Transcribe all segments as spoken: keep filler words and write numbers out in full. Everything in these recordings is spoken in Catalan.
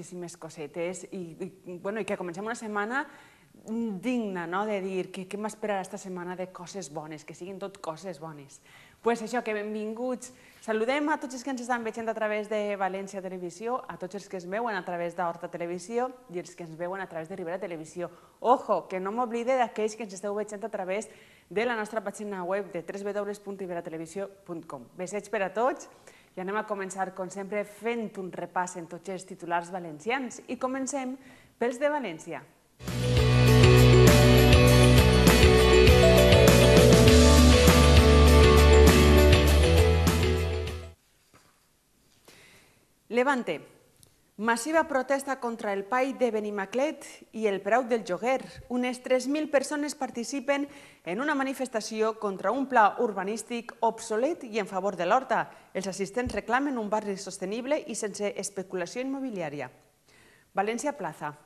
moltíssimes cosetes i que comencem una setmana digna de dir què m'esperarà aquesta setmana de coses bones, que siguin tot coses bones. Doncs això, que benvinguts. Saludem a tots els que ens estan veient a través de València Televisió, a tots els que ens veuen a través d'Horta Televisió i els que ens veuen a través de Ribera Televisió. Ojo, que no m'oblide d'aquells que ens esteu veient a través de la nostra pàgina web de w w w punt ribera televisió punt com. Besets per a tots i anem a començar, com sempre, fent un repàs en tots els titulars valencians i comencem pels de València. Levante. Massiva protesta contra el P A I de Benimaclet i el preu del lloguer. Unes tres mil persones participen en una manifestació contra un pla urbanístic obsolet i en favor de l'Horta. Els assistents reclamen un barri sostenible i sense especulació immobiliària. València Plaza.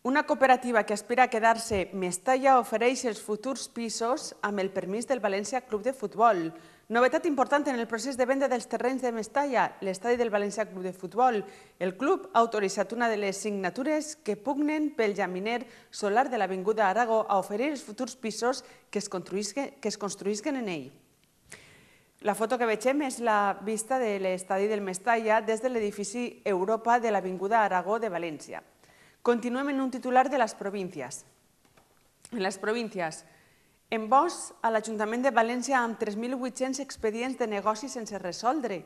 Una cooperativa que aspira a quedar-se Mestalla ofereix els futurs pisos amb el permís del València Club de Futbol. Novetat important en el procés de venda dels terrenys de Mestalla, l'estadi del València Club de Futbol. El club ha autoritzat una de les signatures que pugnen pel llaminer solar de l'Avinguda Aragó a oferir els futurs pisos que es construïsquen en ell. La foto que vegem és la vista de l'estadi del Mestalla des de l'edifici Europa de l'Avinguda Aragó de València. Continuem en un titular de les províncies. En les províncies, en Bosch, a l'Ajuntament de València amb tres mil vuit-cents expedients de negoci sense resoldre.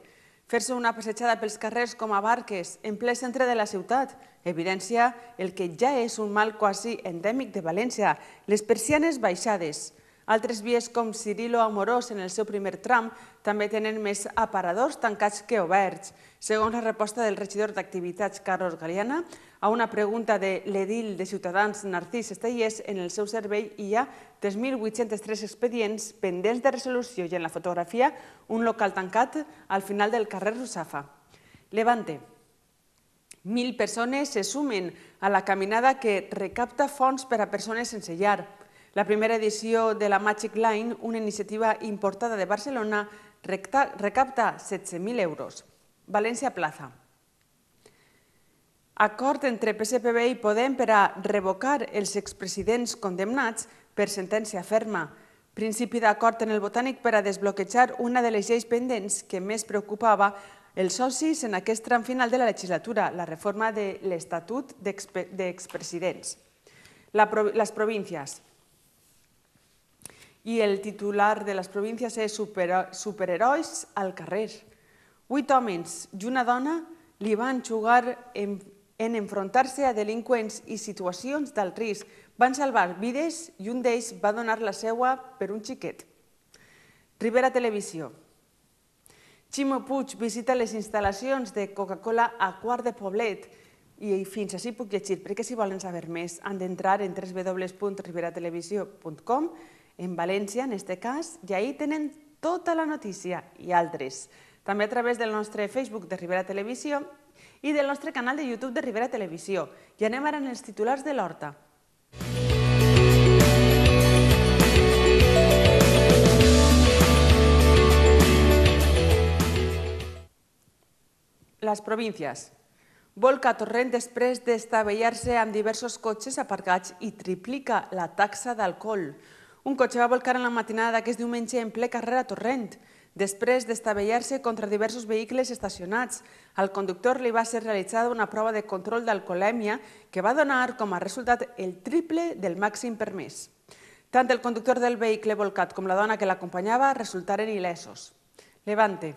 Fer-se una passejada pels carrers com a Barques, en ple centre de la ciutat, evidència el que ja és un mal quasi endèmic de València, les persianes baixades. Altres vies com Cirilo Amorós en el seu primer tram també tenen més aparadors tancats que oberts. Segons la resposta del regidor d'Activitats, Carlos Galeana, a una pregunta de l'edil de Ciutadans, Narcís Estellés, en el seu servei hi ha tres mil vuit-cents tres expedients pendents de resolució i en la fotografia un local tancat al final del carrer Russafa. Levante. Mil persones se sumen a la caminada que recapta fons per a persones sense llar. La primera edició de la Magic Line, una iniciativa importada de Barcelona, recapta setze mil euros. València Plaza. Acord entre P S P B i Podem per a revocar els expresidents condemnats per sentència ferma. Principi d'acord en el Botànic per a desbloquejar una de les lleis pendents que més preocupava els socis en aquest tram final de la legislatura, la reforma de l'Estatut d'Expresidents. Les províncies. I el titular de les províncies és Superherois al carrer. Vuit homes i una dona li van jugar en enfrontar-se a delinqüents i situacions d'alt risc. Van salvar vides i un d'ells va donar la seva per un xiquet. Ribera Televisió. Ximo Puig visita les instal·lacions de Coca-Cola a Quart de Poblet i fins així puc llegir, perquè si volen saber més han d'entrar en w w w punt ribera televisió punt com, en València, en aquest cas, i ahí tenen tota la notícia i altres. També a través del nostre Facebook de Ribera Televisió i del nostre canal de YouTube de Ribera Televisió. I anem ara en els titulars de l'Horta. Les províncies. Volca a Torrent després d'estavellar-se amb diversos cotxes aparcats i triplica la taxa d'alcohol. Un cotxe va volcar en la matinada d'aquest diumenge en ple carrer a Torrent, després d'estavellar-se contra diversos vehicles estacionats. Al conductor li va ser realitzada una prova de control d'alcoholèmia que va donar com a resultat el triple del màxim permès. Tant el conductor del vehicle volcat com la dona que l'acompanyava resultaren il·lesos. Levante.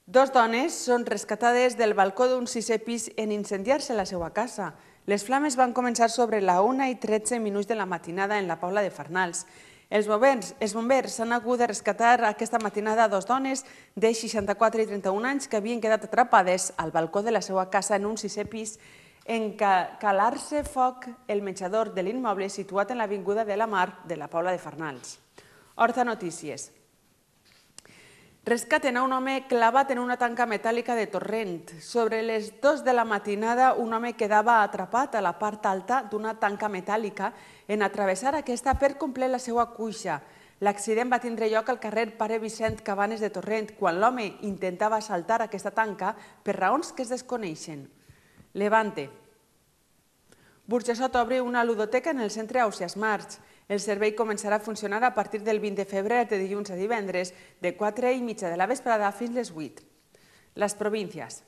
Dos dones són rescatades del balcó d'un sisè pis en incendiar-se la seva casa. Les flames van començar sobre la una i tretze minuts de la matinada en la Pobla de Farnals. Els bombers s'han hagut de rescatar aquesta matinada dos dones de seixanta-quatre i trenta-un anys que havien quedat atrapades al balcó de la seva casa en un sisè pis en calar-se foc el menjador de l'immoble situat en l'Avinguda de la Mar de la Pobla de Farnals. Horta Notícies. Rescaten a un home clavat en una tanca metàl·lica de Torrent. Sobre les dues de la matinada, un home quedava atrapat a la part alta d'una tanca metàl·lica en atravessar aquesta per complet la seva cuixa. L'accident va tindre lloc al carrer Pare Vicent Cabanes de Torrent quan l'home intentava saltar aquesta tanca per raons que es desconeixen. Levante. Burjassot obre una ludoteca en el centre Ausiàs March. El servei començarà a funcionar a partir del vint de febrer de dilluns a divendres de quatre i mitja de la vesprada fins les vuit. Les províncies.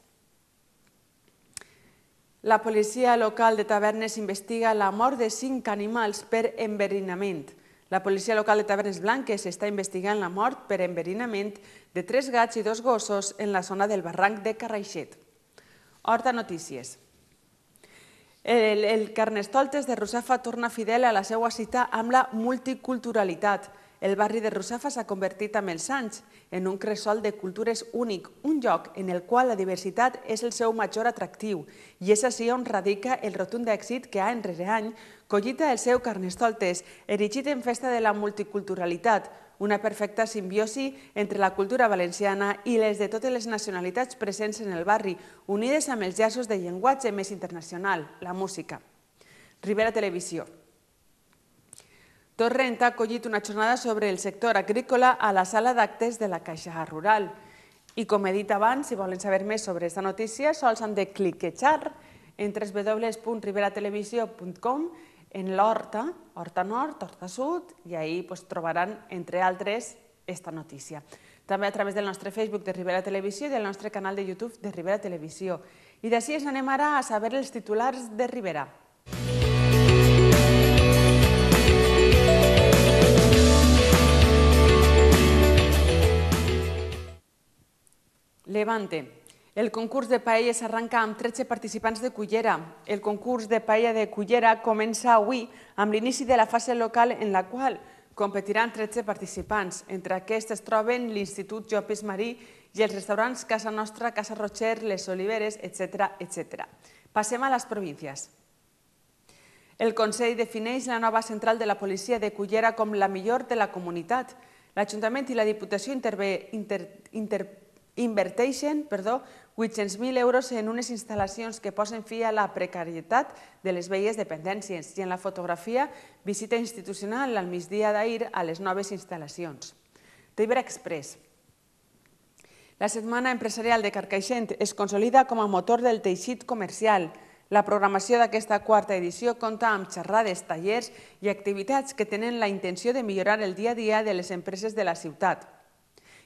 La policia local de Tavernes investiga la mort de cinc animals per enverinament. La policia local de Tavernes Blanques està investigant la mort per enverinament de tres gats i dos gossos en la zona del barranc de Carraixet. Horta Notícies. El, el Carnestoltes de Russafa torna fidel a la seva cita amb la multiculturalitat. El barri de Russafa s'ha convertit amb els anys en un cresol de cultures únic, un lloc en el qual la diversitat és el seu major atractiu i és així on radica el rotund èxit que any rere any collita el seu Carnestoltes, erigit en festa de la multiculturalitat, una perfecta simbiosi entre la cultura valenciana i les de totes les nacionalitats presents en el barri, unides amb els llaços de llenguatge més internacional, la música. Ribera Televisió. Torrent ha acollit una jornada sobre el sector agrícola a la sala d'actes de la Caixa Rural. I com he dit abans, si volen saber més sobre aquesta notícia, sols han de cliquejar en w w w punt ribera televisió punt com en l'Horta, Horta Nord, Horta Sud, i ahí trobaran, entre altres, aquesta notícia. També a través del nostre Facebook de Ribera Televisió i del nostre canal de YouTube de Ribera Televisió. I d'ací ens anem ara a saber els titulars de Ribera. Levante. El concurs de paella s'arranca amb tretze participants de Cullera. El concurs de paella de Cullera comença avui amb l'inici de la fase local en la qual competiran tretze participants. Entre aquests es troben l'Institut Llopis Marí i els restaurants Casa Nostra, Casa Rocher, Les Oliveres, etcètera, etcètera. Passem a les províncies. El Consell defineix la nova central de la policia de Cullera com la millor de la comunitat. L'Ajuntament i la Diputació inverteixen vuit-cents mil euros en unes instal·lacions que posen fi a la precarietat de les velles dependències i en la fotografia visita institucional al migdia d'ahir a les noves instal·lacions. Ribera Express. La Setmana Empresarial de Carcaixent es consolida com a motor del teixit comercial. La programació d'aquesta quarta edició compta amb xerrades, tallers i activitats que tenen la intenció de millorar el dia a dia de les empreses de la ciutat.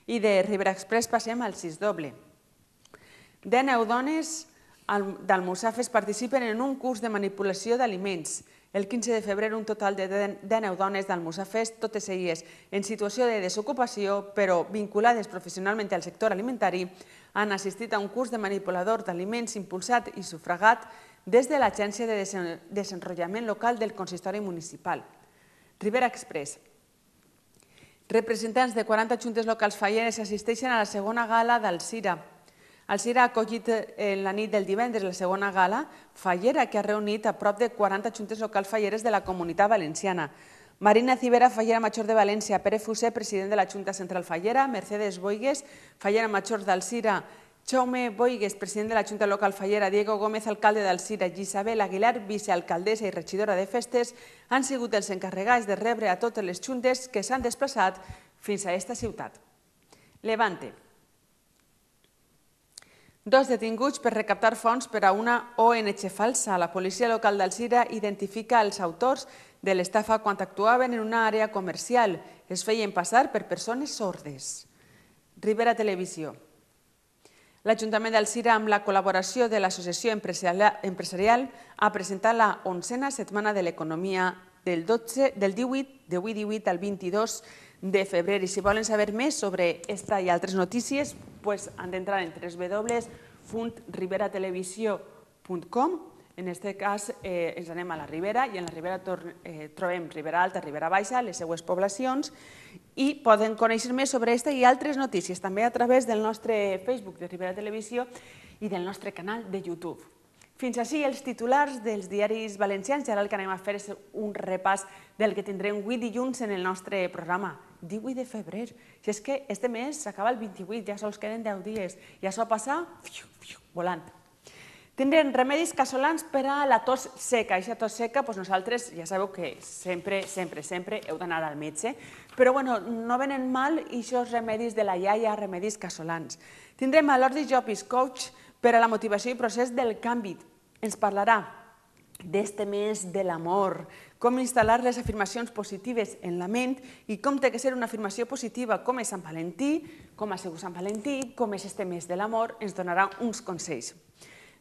I de Ribera Express passem al sis doble. Dinou dones d'Almussafes participen en un curs de manipulació d'aliments. El quinze de febrer un total de dinou dones d'Almussafes, totes elles en situació de desocupació, però vinculades professionalment al sector alimentari, han assistit a un curs de manipulador d'aliments impulsat i sufragat des de l'Agència de Desenvolupament Local del Consistori Municipal. Ribera Express. Representants de quaranta juntes locals falleres assisteixen a la segona gala d'Alzira. Alzira ha acollit en la nit del divendres la segona gala fallera que ha reunit a prop de quaranta juntes locals falleres de la Comunitat Valenciana. Marina Cibera, fallera major de València, Pere Fuser, president de la Junta Central Fallera, Mercedes Boigues, fallera major d'Alzira, Jaume Boigues, president de la Junta Local Fallera, Diego Gómez, alcalde d'Alzira, i Isabel Aguilar, vicealcaldessa i regidora de festes, han sigut els encarregats de rebre a totes les juntes que s'han desplaçat fins a aquesta ciutat. Levante. Dos detinguts per recaptar fons per a una O N G falsa. La policia local d'Alzira identifica els autors de l'estafa quan actuaven en una àrea comercial. Es feien passar per persones sordes. Ribera Televisió. L'Ajuntament d'Alzira, amb la col·laboració de l'Associació Empresarial, ha presentat la onzena Setmana de l'Economia del divuit al vint-i-dos de febrer. I si volen saber més sobre aquesta i altres notícies, han d'entrar en w w w punt ribera televisió punt com. En aquest cas ens anem a la Ribera i en la Ribera trobem Ribera Alta, Ribera Baixa, les seues poblacions, i poden conèixer més sobre aquesta i altres notícies també a través del nostre Facebook de Ribera Televisió i del nostre canal de YouTube. Fins així els titulars dels diaris valencians i ara el que anem a fer és un repàs del que tindrem avui dilluns en el nostre programa. divuit de febrer. Si és que este mes s'acaba el vint-i-vuit, ja sols queden deu dies. I això passa volant. Tindrem remedis casolans per a la tos seca. Aquesta tos seca, nosaltres ja sabeu que sempre, sempre, sempre heu d'anar al metge, però no venen mal aquests remedis de la iaia, remedis casolans. Tindrem a l'Ordi Llopis, coach per a la motivació i procés del canvi. Ens parlarà d'este mes de l'amor, com instal·lar les afirmacions positives en la ment i com té que ser una afirmació positiva, com és Sant Valentí, com ha sigut Sant Valentí, com és este mes de l'amor, ens donarà uns consells.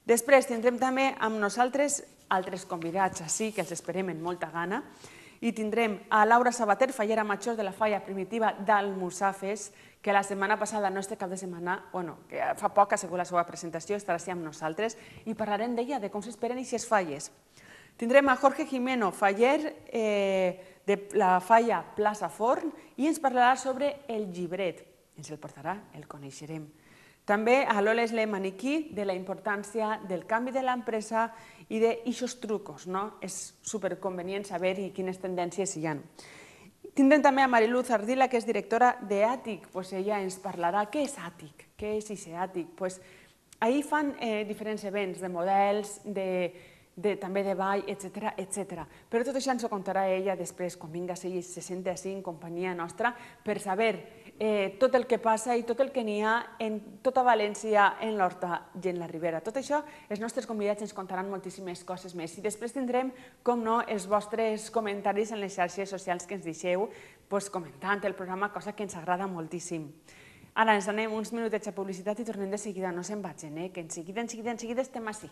Després tindrem també amb nosaltres altres convidats així, que els esperem amb molta gana, i tindrem a Laura Sabater, fallera major de la falla primitiva d'Almussafes, que la setmana passada, no este cap de setmana, bueno, que fa poc ha sigut la seva presentació, estarà així amb nosaltres, i parlarem d'ella, de com s'esperen aquestes falles. Tindrem a Jorge Jimeno, faller de la falla Plaça Forn, i ens parlarà sobre el llibret. Ens el portarà, el coneixerem. També a l'Oles Le Maniquí, de la importància del canvi de l'empresa i d'aixos trucos. És superconvenient saber quines tendències hi ha. Tindrem també a Mariluz Ardila, que és directora d'Àtic. Ella ens parlarà què és Àtic, què és aquest Àtic. Ahir fan diferents events de models, també de ball, etcètera. Però tot això ens ho contarà ella després, quan vinga a ser se senta així en companyia nostra, per saber tot el que passa i tot el que n'hi ha en tota València, en l'Horta i en la Ribera. Tot això, els nostres convidats ens contaran moltíssimes coses més. I després tindrem, com no, els vostres comentaris en les xarxes socials que ens deixeu comentant el programa, cosa que ens agrada moltíssim. Ara ens anem uns minutets a publicitat i tornem de seguida. No se'n vagin, que en seguida, en seguida, en seguida estem així.